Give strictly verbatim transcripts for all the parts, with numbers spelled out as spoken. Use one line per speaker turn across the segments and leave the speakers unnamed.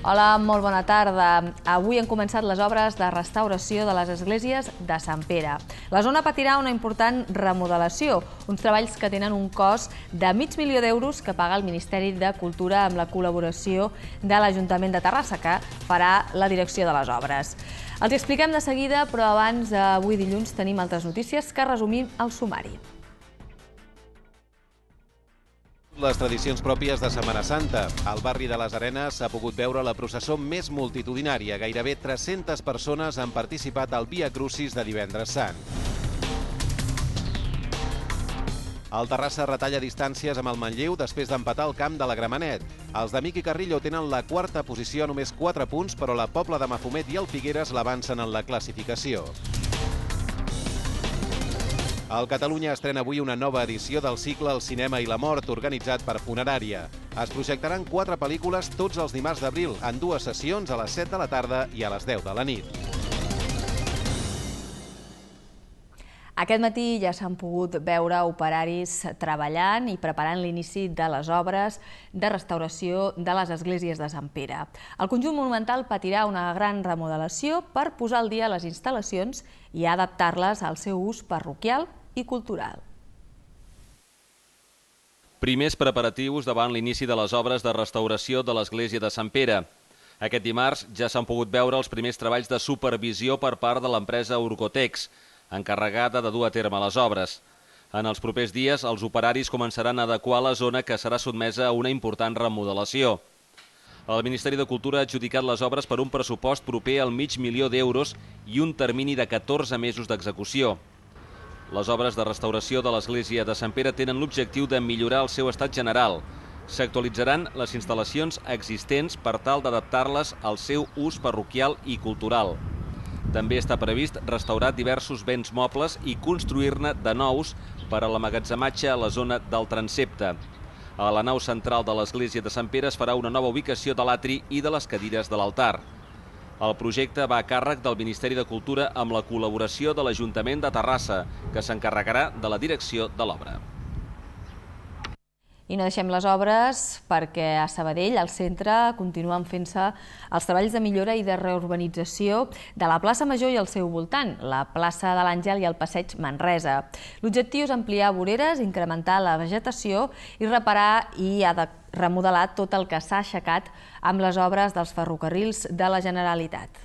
Hola, molt bona tarda. Avui han començat les obres de restauració de les esglésies de Sant Pere. La zona patirà una important remodelació, uns treballs que tenen un cost de mig milió d'euros que paga el Ministeri de Cultura amb la col·laboració de l'Ajuntament de Terrassa, que farà la direcció de les obres. Els expliquem de seguida, però abans, avui dilluns, tenim altres notícies que resumim al sumari.
Les tradicions pròpies de Setmana Santa. Al barri de les Arenes s'ha pogut veure la processó més multitudinària. Gairebé tres-centes persones han participat al Via Crucis de Divendres Sant. El Terrassa retalla distàncies amb el Manlleu després d'empatar el camp de la Gramenet. Els de Miqui Carrillo tenen la quarta posició a només quatre punts, però la Pobla de Mafumet i el Figueres l'avancen en la classificació. El Catalunya estrena avui una nova edició del cicle El cinema i la mort, organitzat per Funerària. Es projectaran quatre pel·lícules tots els dimarts d'abril, en dues sessions, a les set de la tarda i a les deu de la nit.
Aquest matí ja s'han pogut veure operaris treballant i preparant l'inici de les obres de restauració de les esglésies de Sant Pere. El conjunt monumental patirà una gran remodelació per posar al dia les instal·lacions i adaptar-les al seu ús parroquial i cultural.
Primers preparatius davant l'inici de les obres de restauració de l'església de Sant Pere. Aquest dimarts ja s'han pogut veure els primers treballs de supervisió per part de l'empresa Urcotex, encarregada de dur a terme les obres. En els propers dies, els operaris començaran a adequar la zona que serà sotmesa a una important remodelació. El Ministeri de Cultura ha adjudicat les obres per un pressupost proper al mig milió d'euros i un termini de catorze mesos d'execució. Les obres de restauració de l'església de Sant Pere tenen l'objectiu de millorar el seu estat general. S'actualitzaran les instal·lacions existents per tal d'adaptar-les al seu ús parroquial i cultural. També està previst restaurar diversos béns mobles i construir-ne de nous per a l'emmagatzematge a la zona del transsepte. A la nau central de l'església de Sant Pere es farà una nova ubicació de l'atri i de les cadires de l'altar. El projecte va a càrrec del Ministeri de Cultura amb la col·laboració de l'Ajuntament de Terrassa, que s'encarregarà de la direcció de l'obra.
I no deixem les obres perquè a Sabadell, al centre, continuen fent-se els treballs de millora i de reurbanització de la plaça Major i el seu voltant, la plaça de l'Àngel i el passeig Manresa. L'objectiu és ampliar voreres, incrementar la vegetació i reparar i remodelar tot el que s'ha aixecat amb les obres dels ferrocarrils de la Generalitat.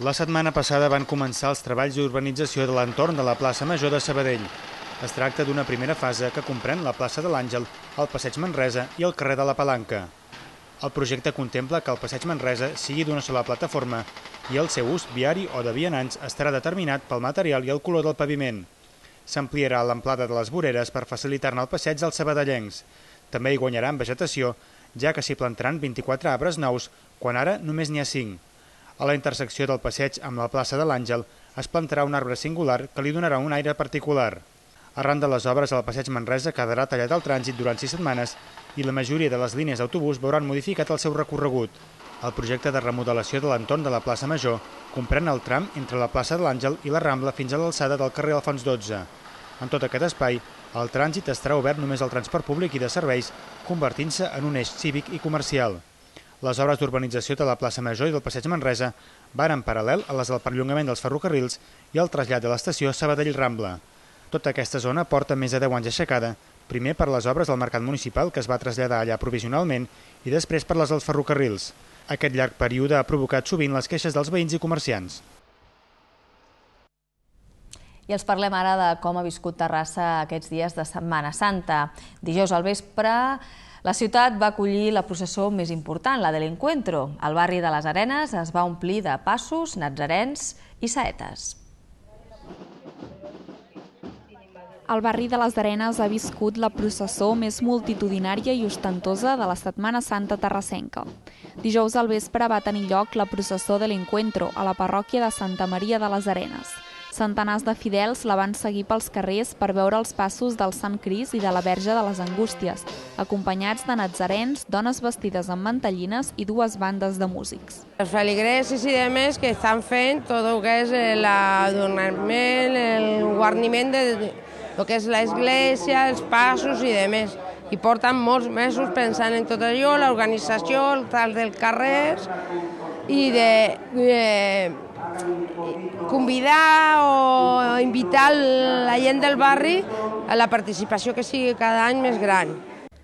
La setmana passada van començar els treballs d'urbanització de l'entorn de la plaça Major de Sabadell. Es tracta d'una primera fase que comprèn la plaça de l'Àngel, el passeig Manresa i el carrer de la Palanca. El projecte contempla que el passeig Manresa sigui d'una sola plataforma i el seu ús viari o de vianants estarà determinat pel material i el color del paviment. S'ampliarà l'amplada de les voreres per facilitar-ne el passeig als sabadellencs. També hi guanyaran vegetació, ja que s'hi plantaran vint-i-quatre arbres nous, quan ara només n'hi ha cinc. A la intersecció del passeig amb la plaça de l'Àngel es plantarà un arbre singular que li donarà un aire particular. Arran de les obres, el passeig Manresa quedarà tallat al trànsit durant sis setmanes i la majoria de les línies d'autobús veuran modificat el seu recorregut. El projecte de remodelació de l'entorn de la plaça Major comprèn el tram entre la plaça de l'Àngel i la Rambla fins a l'alçada del carrer Alfons dotze. En tot aquest espai, el trànsit estarà obert només al transport públic i de serveis, convertint-se en un eix cívic i comercial. Les obres d'urbanització de la plaça Major i del passeig Manresa van en paral·lel a les del perllongament dels ferrocarrils i el trasllat de l'estació Sabadell-Rambla. Tota aquesta zona porta més de deu anys aixecada, primer per les obres del mercat municipal, que es va traslladar allà provisionalment, i després per les dels ferrocarrils. Aquest llarg període ha provocat sovint les queixes dels veïns i comerciants.
I els parlem ara de com ha viscut Terrassa aquests dies de Setmana Santa. Dijous al vespre, la ciutat va acollir la processó més important, la de l'Encuentro. El barri de les Arenes es va omplir de passos, natzarens i saetes.
El barri de les Arenes ha viscut la processó més multitudinària i ostentosa de la Setmana Santa terrassenca. Dijous al vespre va tenir lloc la processó de l'Encuentro a la parròquia de Santa Maria de les Arenes. Centenars de fidels la van seguir pels carrers per veure els passos del Sant Cris i de la Verge de les Angústies, acompanyats de natzarens, dones vestides amb mantellines i dues bandes de músics.
Els feligresos i demés que estan fent tot el que és l'adornament, el guarniment de el que és l'església, els passos i demés. i porten molts mesos pensant en tot allò, l'organització, el tal dels carrers, i de, de convidar o invitar la gent del barri a la participació que sigui cada any més gran.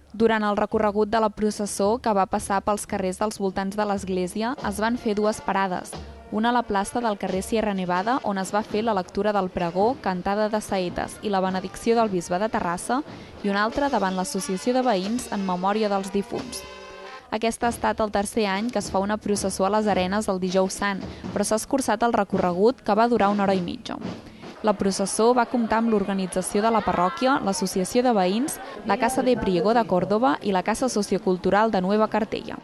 Durant el recorregut de la processó, que va passar pels carrers dels voltants de l'església, es van fer dues parades. Una a la plaça del carrer Sierra Nevada, on es va fer la lectura del pregó, cantada de saetes i la benedicció del bisbe de Terrassa, i una altra davant l'Associació de Veïns en memòria dels difunts. Aquest ha estat el tercer any que es fa una processó a les Arenes el Dijous Sant, però s'ha escurçat el recorregut, que va durar una hora i mitja. La processó va comptar amb l'organització de la parròquia, l'Associació de Veïns, la Casa de Priego de Córdoba i la Casa Sociocultural de Nueva Cartella.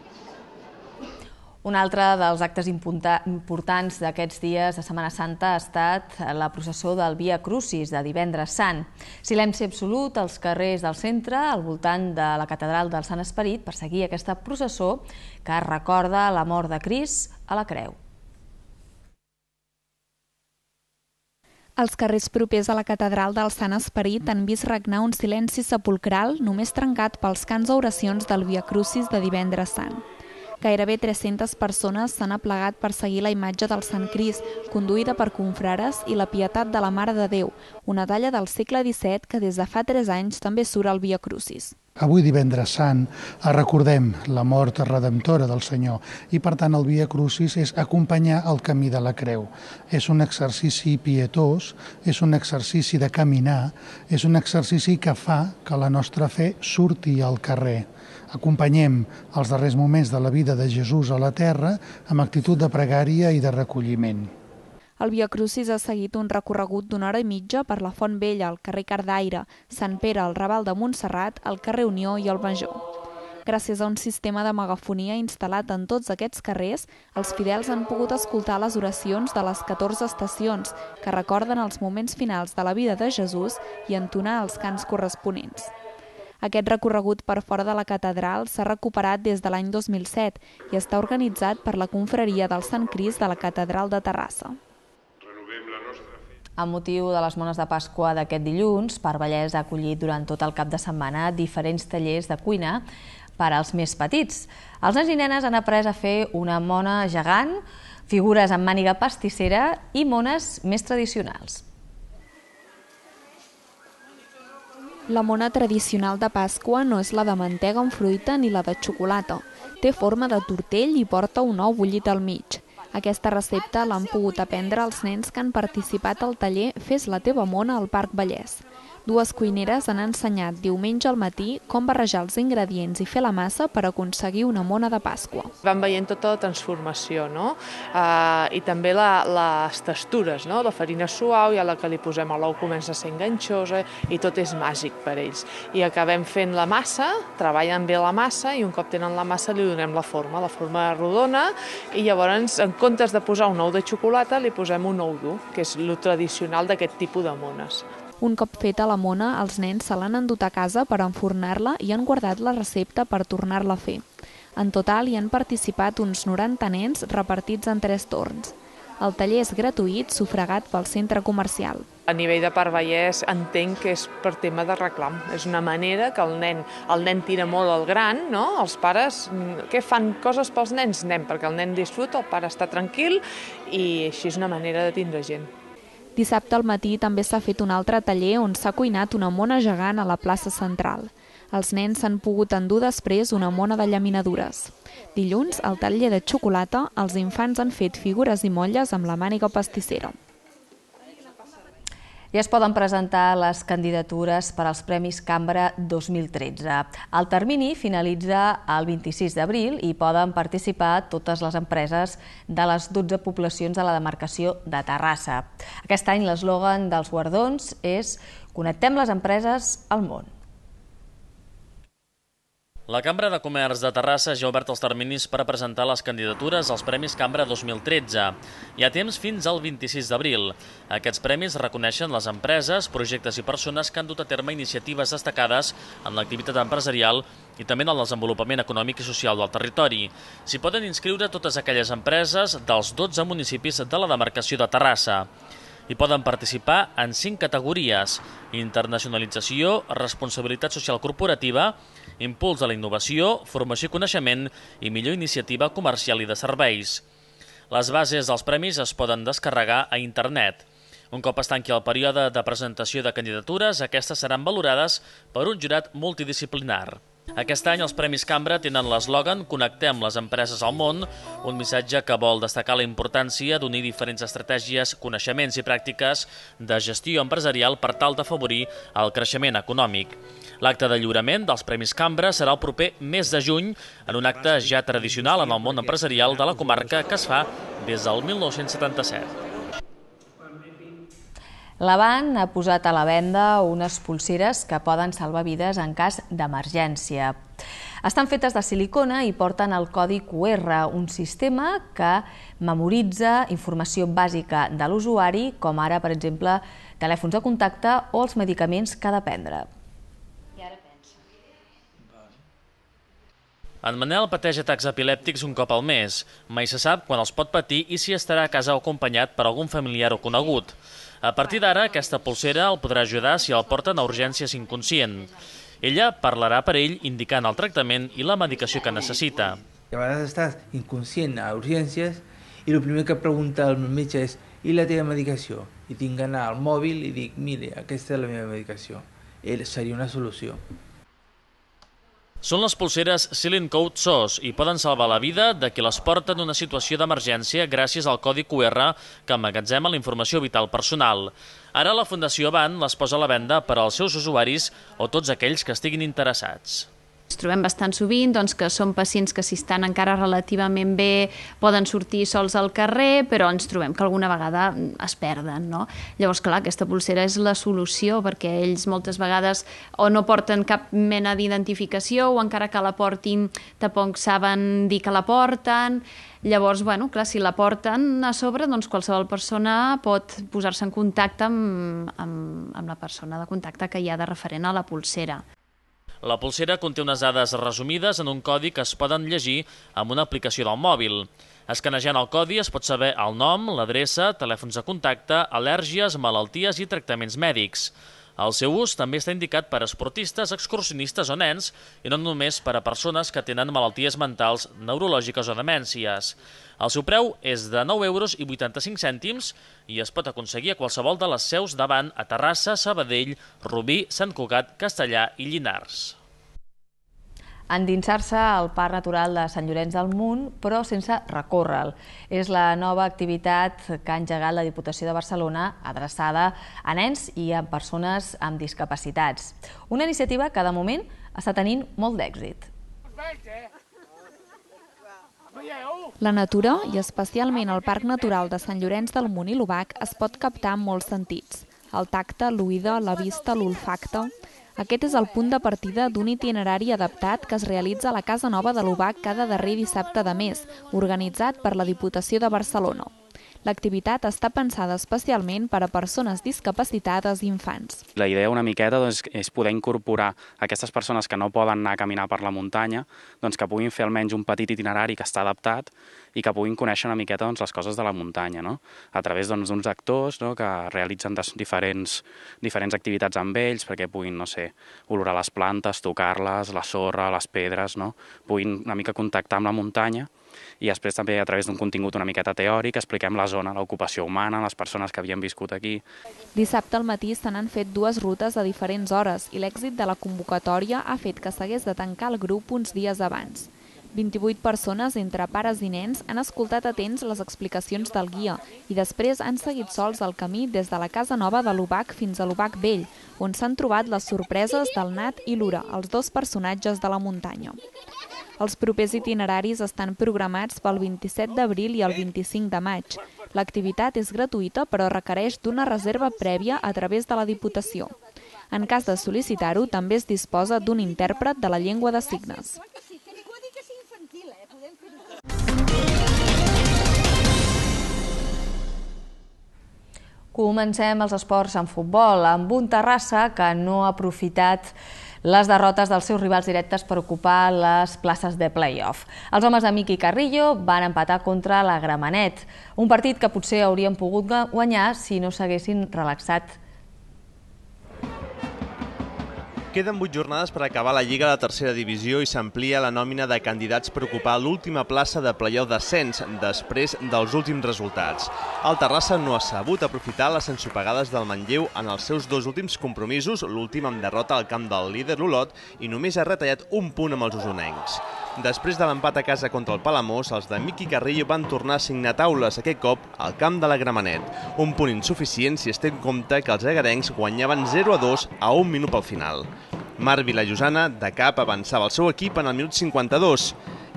Un altre dels actes importants d'aquests dies de Setmana Santa ha estat la processó del Via Crucis de Divendres Sant. Silenci absolut als carrers del centre, al voltant de la catedral del Sant Esperit, per seguir aquesta processó que recorda la mort de Crist a la creu.
Els carrers propers a la catedral del Sant Esperit han vist regnar un silenci sepulcral només trencat pels cants o oracions del Via Crucis de Divendres Sant. Gairebé tres-centes persones s'han aplegat per seguir la imatge del Sant Crist, conduïda per confrares, i la Pietat de la Mare de Déu, una talla del segle disset que des de fa tres anys també surt al Via Crucis.
Avui, Divendres Sant, recordem la mort redemptora del Senyor i, per tant, el Via Crucis és acompanyar el camí de la creu. És un exercici pietós, és un exercici de caminar, és un exercici que fa que la nostra fe surti al carrer. Acompanyem els darrers moments de la vida de Jesús a la terra amb actitud de pregària i de recolliment.
El Via Crucis ha seguit un recorregut d'una hora i mitja per la Font Vella, el carrer Cardaire, Sant Pere, el Raval de Montserrat, el carrer Unió i el Major. Gràcies a un sistema de megafonia instal·lat en tots aquests carrers, els fidels han pogut escoltar les oracions de les catorze estacions, que recorden els moments finals de la vida de Jesús i entonar els cants corresponents. Aquest recorregut per fora de la catedral s'ha recuperat des de l'any dos mil set i està organitzat per la confraria del Sant Crist de la Catedral de Terrassa.
Amb motiu de les mones de Pasqua d'aquest dilluns, Parvallès ha acollit durant tot el cap de setmana diferents tallers de cuina per als més petits. Els nens i nenes han après a fer una mona gegant, figures amb màniga pastissera i mones més tradicionals.
La mona tradicional de Pasqua no és la de mantega amb fruita ni la de xocolata. Té forma de tortell i porta un ou bullit al mig. Aquesta recepta l'han pogut aprendre els nens que han participat al taller Fes la teva mona al Parc Vallès. Dues cuineres han ensenyat diumenge al matí com barrejar els ingredients i fer la massa per aconseguir una mona de Pasqua.
Vam veient tota la transformació, no? Uh, i també la, les textures, no? La farina suau i a la que li posem a l'ou comença a ser enganxosa i tot és màgic per ells. I acabem fent la massa, treballen bé la massa i un cop tenen la massa li donem la forma, la forma rodona, i llavors en comptes de posar un ou de xocolata li posem un ou dur, que és el tradicional d'aquest tipus de mones.
Un cop feta la mona, els nens se l'han endut a casa per enfornar-la i han guardat la recepta per tornar-la a fer. En total hi han participat uns noranta nens repartits en tres torns. El taller és gratuït, sufragat pel centre comercial.
A nivell de Parc Vallès entenc que és per tema de reclam. És una manera que el nen, el nen tira molt al gran, no? Els pares, què fan coses pels nens? Nen, perquè el nen disfruta, el pare està tranquil i així és una manera de tindre gent.
Dissabte al matí també s'ha fet un altre taller on s'ha cuinat una mona gegant a la plaça central. Els nens s'han pogut endur després una mona de llaminadures. Dilluns, al taller de xocolata, els infants han fet figures i motlles amb la màniga pastissera.
Ja es poden presentar les candidatures per als Premis Cambra dos mil tretze. El termini finalitza el vint-i-sis d'abril i poden participar totes les empreses de les dotze poblacions de la demarcació de Terrassa. Aquest any l'eslògan dels guardons és «Connectem les empreses al món».
La Cambra de Comerç de Terrassa ja ha obert els terminis per a presentar les candidatures als Premis Cambra dos mil tretze. Hi ha temps fins al vint-i-sis d'abril. Aquests premis reconeixen les empreses, projectes i persones que han dut a terme iniciatives destacades en l'activitat empresarial i també en el desenvolupament econòmic i social del territori. S'hi poden inscriure totes aquelles empreses dels dotze municipis de la demarcació de Terrassa. Hi poden participar en cinc categories: internacionalització, responsabilitat social corporativa, impuls a la innovació, formació i coneixement i millor iniciativa comercial i de serveis. Les bases dels premis es poden descarregar a internet. Un cop es tanqui el període de presentació de candidatures, aquestes seran valorades per un jurat multidisciplinar. Aquest any els Premis Cambra tenen l'eslògan «Connectem les empreses al món», un missatge que vol destacar la importància d'unir diferents estratègies, coneixements i pràctiques de gestió empresarial per tal d'afavorir el creixement econòmic. L'acte de lliurament dels Premis Cambra serà el proper mes de juny, en un acte ja tradicional en el món empresarial de la comarca que es fa des del mil nou-cents setanta-set.
L'Avant ha posat a la venda unes polseres que poden salvar vides en cas d'emergència. Estan fetes de silicona i porten el codi cu erre, un sistema que memoritza informació bàsica de l'usuari, com ara, per exemple, telèfons de contacte o els medicaments que ha de prendre.
En Manel pateix atacs epilèptics un cop al mes. Mai se sap quan els pot patir i si estarà a casa o acompanyat per algun familiar o conegut. A partir d'ara, aquesta polsera el podrà ajudar si el porten a urgències inconscient. Ella parlarà per ell indicant el tractament i la medicació que necessita.
A vegades estàs inconscient a urgències i el primer que pregunta el metge és «I la teva medicació?» I tinc d'anar al mòbil i dic «Mire, aquesta és la meva medicació». Ell seria una solució.
Són les polseres Silent Code S O S i poden salvar la vida de qui les porta en una situació d'emergència gràcies al codi cu erre que emmagatzema la informació vital personal. Ara la Fundació Avant les posa a la venda per als seus usuaris o tots aquells que estiguin interessats.
Ens trobem bastant sovint doncs, que són pacients que si estan encara relativament bé poden sortir sols al carrer, però ens trobem que alguna vegada es perden. No? Llavors, clar, aquesta polsera és la solució perquè ells moltes vegades o no porten cap mena d'identificació o encara que la portin tampoc saben dir que la porten. Llavors, bueno, clar, si la porten a sobre, doncs qualsevol persona pot posar-se en contacte amb, amb, amb la persona de contacte que hi ha de referent a la polsera.
La polsera conté unes dades resumides en un codi que es poden llegir amb una aplicació del mòbil. Escanejant el codi es pot saber el nom, l'adreça, telèfons de contacte, al·lèrgies, malalties i tractaments mèdics. El seu ús també està indicat per a esportistes, excursionistes o nens i no només per a persones que tenen malalties mentals, neurològiques o demències. El seu preu és de nou euros i vuitanta-cinc cèntims i es pot aconseguir a qualsevol de les seus d'Avant a Terrassa, Sabadell, Rubí, Sant Cugat, Castellà i Llinars.
Endinsar-se al Parc Natural de Sant Llorenç del Munt, però sense recórrer-lo. És la nova activitat que ha engegat la Diputació de Barcelona adreçada a nens i a persones amb discapacitats. Una iniciativa que, de moment, està tenint molt d'èxit.
La natura, i especialment el Parc Natural de Sant Llorenç del Munt i l'Obac, es pot captar en molts sentits. El tacte, l'oïda, la vista, l'olfacte... Aquest és el punt de partida d'un itinerari adaptat que es realitza a la Casa Nova de l'Obac cada darrer dissabte de mes, organitzat per la Diputació de Barcelona. L'activitat està pensada especialment per a persones discapacitades i infants.
La idea una miqueta doncs, és poder incorporar aquestes persones que no poden anar a caminar per la muntanya, doncs, que puguin fer almenys un petit itinerari que està adaptat i que puguin conèixer una miqueta doncs, les coses de la muntanya, no? A través d'uns doncs, actors no? que realitzen diferents, diferents activitats amb ells perquè puguin, no sé, olorar les plantes, tocar-les, la sorra, les pedres, no? Puguin una mica contactar amb la muntanya. I després també a través d'un contingut una miqueta teòric expliquem la zona, l'ocupació humana, les persones que havien viscut aquí.
Dissabte al matí se n'han fet dues rutes a diferents hores i l'èxit de la convocatòria ha fet que s'hagués de tancar el grup uns dies abans. vint-i-vuit persones, entre pares i nens, han escoltat atents les explicacions del guia i després han seguit sols el camí des de la Casa Nova de l'Obac fins a l'Obac Vell, on s'han trobat les sorpreses del Nat i l'Ura, els dos personatges de la muntanya. Els propers itineraris estan programats pel vint-i-set d'abril i el vint-i-cinc de maig. L'activitat és gratuïta però requereix d'una reserva prèvia a través de la Diputació. En cas de sol·licitar-ho, també es disposa d'un intèrpret de la llengua de signes.
Comencem els esports en futbol, amb un Terrassa que no ha aprofitat les derrotes dels seus rivals directes per ocupar les places de play-off. Els homes de Miqui Carrillo van empatar contra la Gramenet, un partit que potser haurien pogut guanyar si no s'haguessin relaxat.
Queden vuit jornades per acabar la Lliga de Tercera Divisió i s'amplia la nòmina de candidats per ocupar l'última plaça de play-off d'ascens després dels últims resultats. El Terrassa no ha sabut aprofitar les ensopegades del Manlleu en els seus dos últims compromisos, l'últim amb derrota al camp del líder l'Olot, i només ha retallat un punt amb els usonencs. Després de l'empat a casa contra el Palamós, els de Miqui Carrillo van tornar a signar taules, aquest cop al camp de la Gramenet. Un punt insuficient si es té en compte que els egarencs guanyaven zero a dos a un minut pel final. Marc Vilajosana, de cap, avançava el seu equip en el minut cinquanta-dos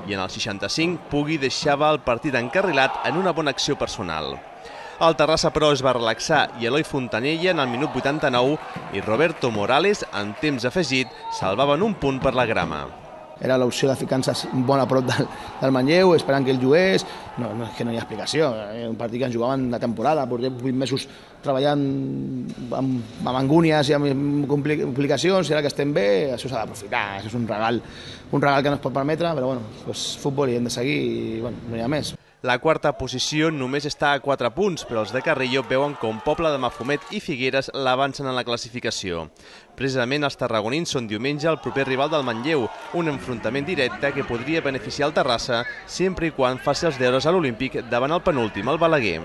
i en el seixanta-cinc Pugui deixava el partit encarrilat en una bona acció personal. El Terrassa, però, es va relaxar i Eloi Fontanella en el minut vuitanta-nou i Roberto Morales, en temps afegit, salvaven un punt per la grama.
Era l'opció de ficar-se molt a prop del, del Manlleu, esperant que ell jugués. No, no, és que no hi ha explicació. Era un partit que ens jugaven de temporada, portem vuit mesos treballant amb, amb angúnies i amb complicacions, i ara que estem bé, això s'ha d'aprofitar. Això és un regal, un regal que no es pot permetre, però bueno, doncs, futbol i hem de seguir i bueno, no hi ha més.
La quarta posició només està a quatre punts, però els de Carrillo veuen com Pobla de Mafumet i Figueres l'avancen en la classificació. Precisament els tarragonins són diumenge el proper rival del Manlleu, un enfrontament directe que podria beneficiar el Terrassa sempre i quan faci els deures a l'Olímpic davant el penúltim, el Balaguer.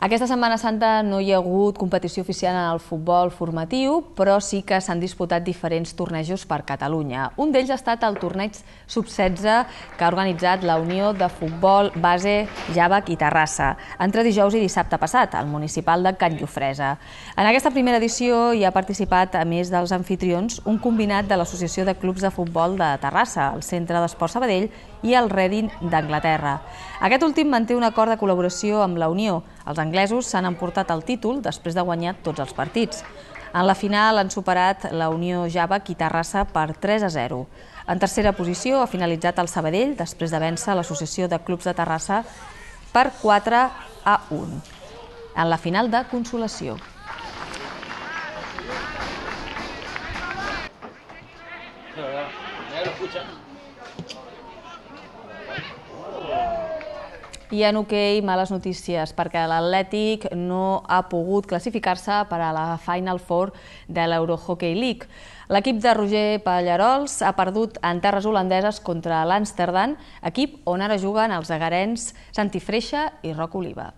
Aquesta Setmana Santa no hi ha hagut competició oficial en el futbol formatiu, però sí que s'han disputat diferents tornejos per Catalunya. Un d'ells ha estat el torneig sub setze que ha organitzat la Unió de Futbol Base Jàvec i Terrassa, entre dijous i dissabte passat, al municipal de Can Llofresa. En aquesta primera edició hi ha participat, a més dels anfitrions, un combinat de l'Associació de Clubs de Futbol de Terrassa, el Centre d'Esport Sabadell i el Reading d'Anglaterra. Aquest últim manté un acord de col·laboració amb la Unió. Els anglesos s'han emportat el títol després de guanyar tots els partits. En la final han superat la Unió Jàvec i Terrassa per tres a zero. En tercera posició ha finalitzat el Sabadell després de vèncer l'Associació de Clubs de Terrassa per quatre a un en la final de consolació. I en hoquei, males notícies, perquè l'Atlètic no ha pogut classificar-se per a la Final Four de l'Eurohockey League. L'equip de Roger Pallarols ha perdut en terres holandeses contra l'Amsterdam, equip on ara juguen els egarens Santi Freixa i Roc Oliva.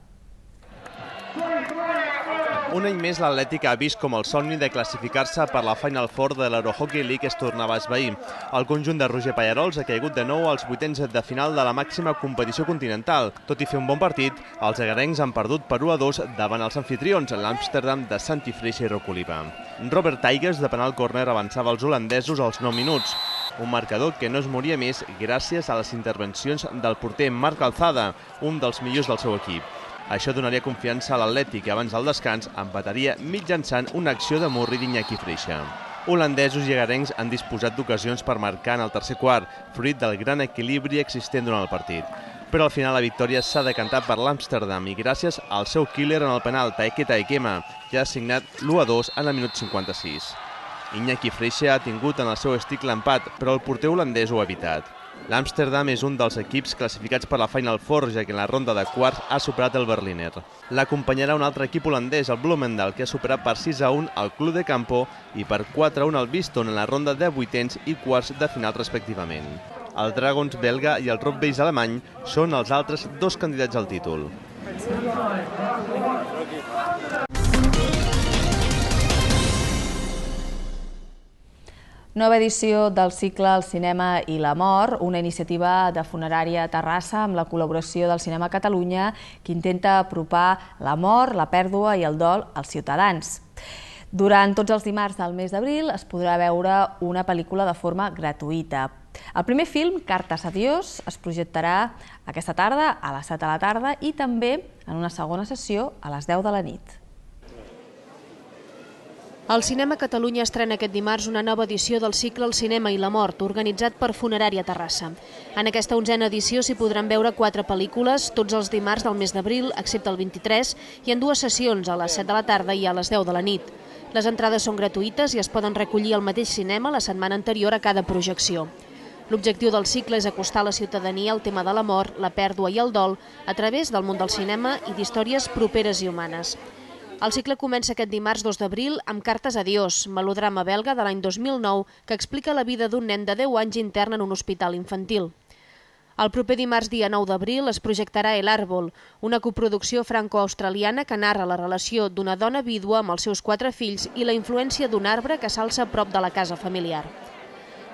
Un any més l'Atlètic ha vist com el somni de classificar-se per la Final Four de l'Eurohockey League es tornava a esvair. El conjunt de Roger Pallarols ha caigut de nou als vuitens de final de la màxima competició continental. Tot i fer un bon partit, els egarencs han perdut per u a dos davant els anfitrions, l'Amsterdam de Santi Freixa i Roc Oliva. Robert Tigers, de penal córner, avançava els holandesos als nou minuts. Un marcador que no es moria més gràcies a les intervencions del porter Marc Alzada, un dels millors del seu equip. Això donaria confiança a l'Atlètic i abans del descans empataria mitjançant una acció de Murri d'Iñaki Freixa. Holandesos i egarencs han disposat d'ocasions per marcar en el tercer quart, fruit del gran equilibri existent durant el partit. Però al final la victòria s'ha decantat per l'Amsterdam i gràcies al seu killer en el penal, Taeke Taekema, que ha assignat l'u a dos en el minut cinquanta-sis. Iñaki Freixa ha tingut en el seu estic l'empat, però el porter holandès ho ha evitat. L'Amsterdam és un dels equips classificats per la Final Four, ja que en la ronda de quarts ha superat el Berliner. L'acompanyarà un altre equip holandès, el Bloemendaal, que ha superat per sis a un el Club de Campo i per quatre a un el Viston en la ronda de vuitens i quarts de final respectivament. El Dragons belga i el Rob Beis alemany són els altres dos candidats al títol.
Nova edició del cicle El cinema i la mort, una iniciativa de Funerària Terrassa amb la col·laboració del Cinema Catalunya que intenta apropar la mort, la pèrdua i el dol als ciutadans. Durant tots els dimarts del mes d'abril es podrà veure una pel·lícula de forma gratuïta. El primer film, Cartes a Dios, es projectarà aquesta tarda a les set de la tarda i també en una segona sessió a les deu de la nit.
El Cinema Catalunya estrena aquest dimarts una nova edició del cicle El cinema i la mort, organitzat per Funerària Terrassa. En aquesta onzena edició s'hi podran veure quatre pel·lícules, tots els dimarts del mes d'abril, excepte el vint-i-tres, i en dues sessions, a les set de la tarda i a les deu de la nit. Les entrades són gratuïtes i es poden recollir al mateix cinema la setmana anterior a cada projecció. L'objectiu del cicle és acostar a la ciutadania el tema de la mort, la pèrdua i el dol a través del món del cinema i d'històries properes i humanes. El cicle comença aquest dimarts dos d'abril amb Cartes a Dios, melodrama belga de l'any dos mil nou que explica la vida d'un nen de deu anys intern en un hospital infantil. El proper dimarts, dia nou d'abril, es projectarà El Árbol, una coproducció franco-australiana que narra la relació d'una dona vídua amb els seus quatre fills i la influència d'un arbre que s'alça a prop de la casa familiar.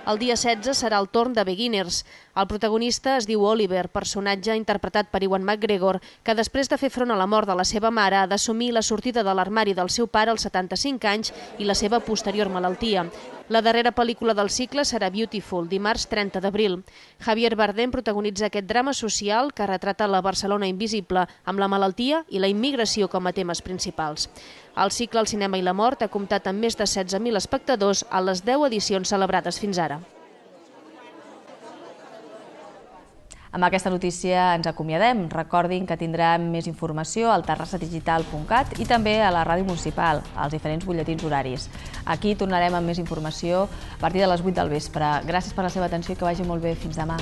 El dia setze serà el torn de Beginners. El protagonista es diu Oliver, personatge interpretat per Ewan McGregor, que després de fer front a la mort de la seva mare ha d'assumir la sortida de l'armari del seu pare als setanta-cinc anys i la seva posterior malaltia. La darrera pel·lícula del cicle serà Beautiful, dimarts trenta d'abril. Javier Bardem protagonitza aquest drama social que retrata la Barcelona invisible, amb la malaltia i la immigració com a temes principals. El cicle El cinema i la mort ha comptat amb més de setze mil espectadors a les deu edicions celebrades fins ara.
Amb aquesta notícia ens acomiadem. Recordin que tindrem més informació al terrassa digital punt cat i també a la ràdio municipal, als diferents butlletins horaris. Aquí tornarem amb més informació a partir de les vuit del vespre. Gràcies per la seva atenció i que vagi molt bé. Fins demà.